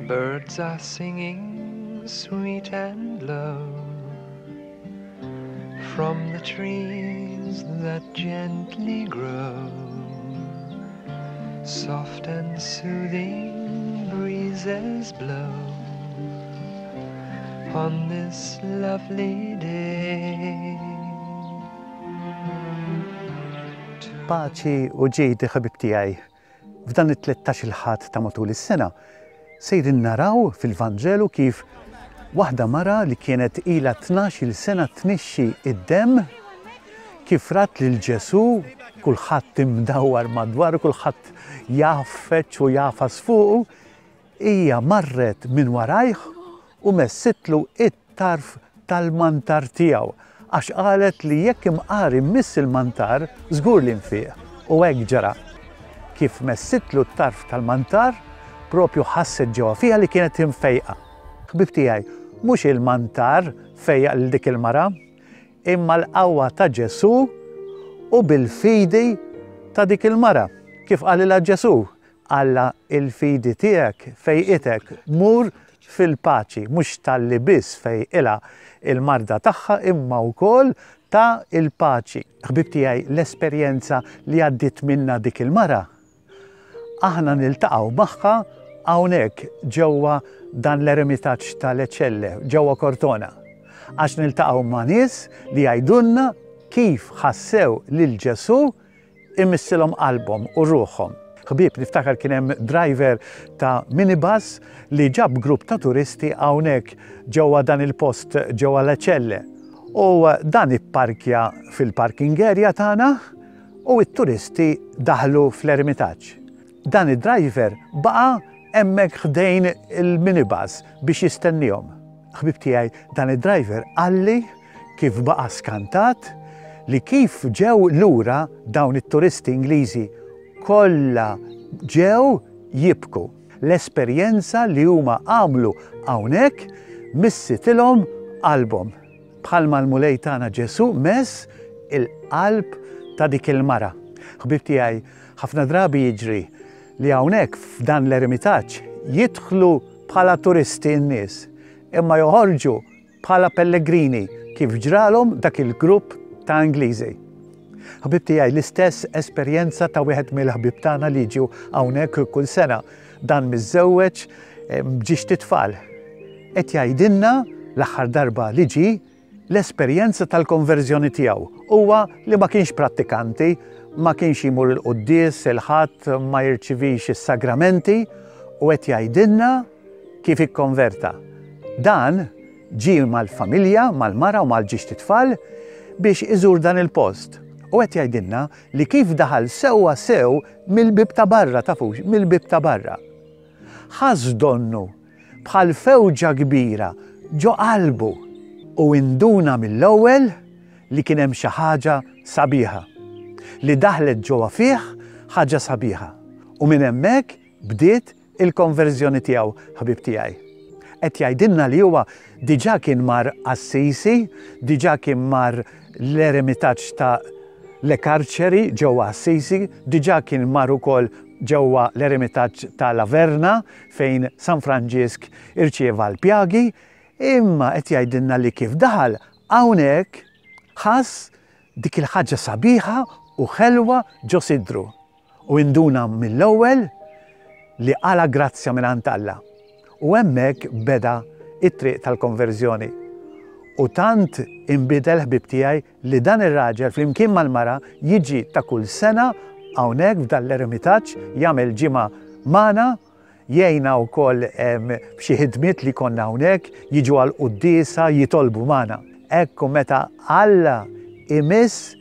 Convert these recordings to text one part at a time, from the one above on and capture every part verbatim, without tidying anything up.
Birds are singing sweet and low from the trees that gently grow. Soft and soothing breezes blow on this lovely day. Paċi u ġid, ħabib tiegħi. F'dan it-tlettax-il Ħadd ta' matul is-sena sejrin naraw fil-Vanġelu kif waħda mara li kienet ilha tnax-il sena tnixxi id-demm, kif rat lil Ġesù, kulħadd imdawwar madwaru, kulħadd jgħaffeġ u jagħfas fuqu, hija marret minn warajh u messitlu it-tarf tal-mantar tiegħu, għax qalet li jekk imqar immiss il-mantar, żgur li nfiq. U hekk ġara. Kif messitlu t-tarf tal-mantar, propju ħasset ġewwa fiha li kienet imfejqa. Ħbib tiegħi, mhux il-mantar fejjaq lil dik il-mara, imma l-qawwa ta' Ġesù u bil-fidi ta' dik il-mara. Kif qalilha Ġesù, Alla, il-fidi tiegħek fejqitek, mur fil-paċi. Mhux talli biss fejqilha il-marda tagħha, imma wkoll ta' il-paċi. Ħbib tiegħi, l-esperjenza li għaddiet minna dik il-mara, aħna niltaqgħu magħha hawnhekk ġewwa dan l-eremitaġġ ta' Le Celle, ġewwa Cortona. Għax niltaqgħu ma' nies li jgħidulna kif ħassew lil Ġesù imissilhom qalbhom u ruħhom. Ħbieb, niftakar kien hemm driver ta' minibus li ġab grupp ta' turisti hawnhekk ġewwa dan il-post ġewwa Le Celle. U dan ipparkja fil-parking area tagħna u t-turisti daħlu fl-eremitaġġ. Dan id-driver baqa' hemmhekk ħdejn il-minibus biex jistennihom. Ħbib tiegħi, dan id-driver qalli kif baqa' skantat li kif ġew lura dawn it-turisti Ingliżi kollha ġew jibku. L-esperjenza li huma għamlu hawnhekk missitilhom qalbhom. Bħalma l-Mulej tagħna Ġesù mess il-qalb ta' dik il-mara. Ħbib tiegħi, ħafna drabi jiġri li hawnhekk f'dan l-eremitaġġ jidħlu bħala turisti n-nies, imma joħorġu bħala pellegrini kif ġralhom dak il-grupp ta' Ingliżi. Ħbib tiegħi, l-istess esperjenza ta' wieħed mill-ħbib tagħna li jiġu hawnhekk kull sena, dan miżżewweġ b'ġiex titfal. Qed jgħidilna l-aħħar darba li ġie l-esperjenza tal-konverżjoni tiegħu huwa li ma kienx prattikanti, ma kienx jimur il-quddies, il-Ħadd, ma jirċivix is-sagramenti, u qed jgħidilna kif ikkonverta. Dan ġie mal-familja, mal-mara u mal-ġiex titfal biex iżur dan il-post. U qed jgħidilna li kif daħal sewwa sew mill-bib ta' barra, tafux, mill-bib ta' barra. Ħass donnu bħal fewġa kbira ġo qalbu u induna mill-ewwel li kien hemm xi ħaġa sabiħa, li daħlet ġewwa fih ħaġa sabiħa. U minn hemmhekk bdiet il-konverżjoni tiegħu, ħabib tiegħi. Qed jgħidilna li huwa diġà kien mar Assisi, diġà kien mar l-eremitaġġ ta' Le Carceri ġewwa Assisi, diġà kien mar ukoll ġewwa l-eremitaġġ ta' La Verna fejn San Franġisk irċieva l-pjagi, imma qed jgħidilna li kif daħal hawnhekk ħass dik il-ħaġa sabiħa u ħelwa ġo sidru u induna mill-ewwel li qala grazzja mingħand Alla. U hemmhekk beda it-triq tal-konverżjoni. U tant inbidel, ħbib tiegħi, li dan ir-raġel flimkien mal-mara jiġi ta' kull sena hawnhekk f'dan l-eremitaġġ, jagħmel ġimgħa magħna, jgħinna wkoll f'xi ħidmiet li konna hawnhekk, jiġu għal quddiesa, jitolbu magħna. Ekku meta Alla imiss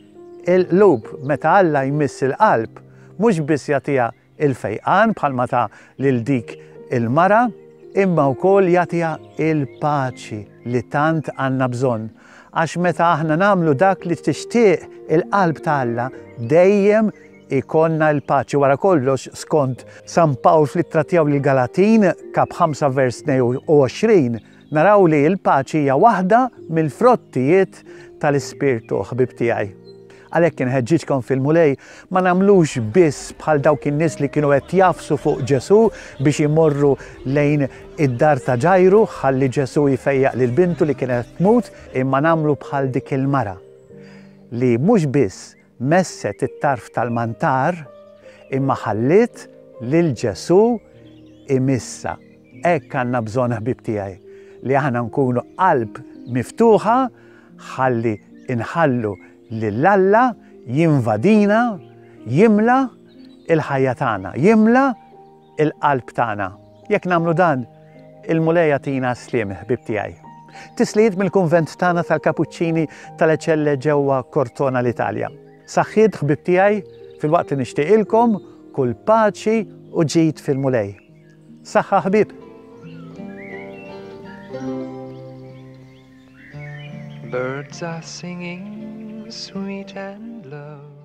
il-qlub, meta Alla jmiss il-qalb, mhux biss jagħtiha il-fejqan bħalma ta' lil dik il-mara, imma wkoll jagħtiha il-paċi li tant għandna bżonn. Għax meta aħna nagħmlu dak li tixtieq il-qalb ta' Alla, dejjem ikonna l-paċi. Wara kollox, skont San Pawl fl-ittra tiegħu lill-Galatin, kap ħamsa vers tnejn u għoxrin, naraw li l-paċi hija waħda mill-frottijiet tal-Ispirtu, ħbib tiegħi. Għalhekk inħeġġiġkom fil-Mulej ma nagħmlux biss bħal dawk in-nies li kienu qed jagħfsu fuq Ġesù biex imorru lejn id-dar ta' Ġajru ħalli Ġesù jfejjaq lil bintu li kienet tmut, imma nagħmlu bħal dik il-mara li mhux biss messet it-tarf tal-mantar imma ħalliet lil Ġesù imissha. Hekk għandna bżonn, ħbieb tiegħi, li aħna nkunu qalb miftuħa ħalli inħallu lil Alla jinvadina, jimla il-ħajja tagħna, jimla il-qalb tagħna. Jekk nagħmlu dan, il-Mulej jagħtina sliem, ħbieb tiegħi. Tislijiet mill-kunvent tagħna tal-Kapuċċini tal-Eċelle ġewwa Cortona, l-Italja. Saħħiet, ħbieb tiegħi, filwaqt li nixtieqilkom kull paċi u ġid fil-Mulej. Saħħa, ħbieb! Birds are singing sweet and low.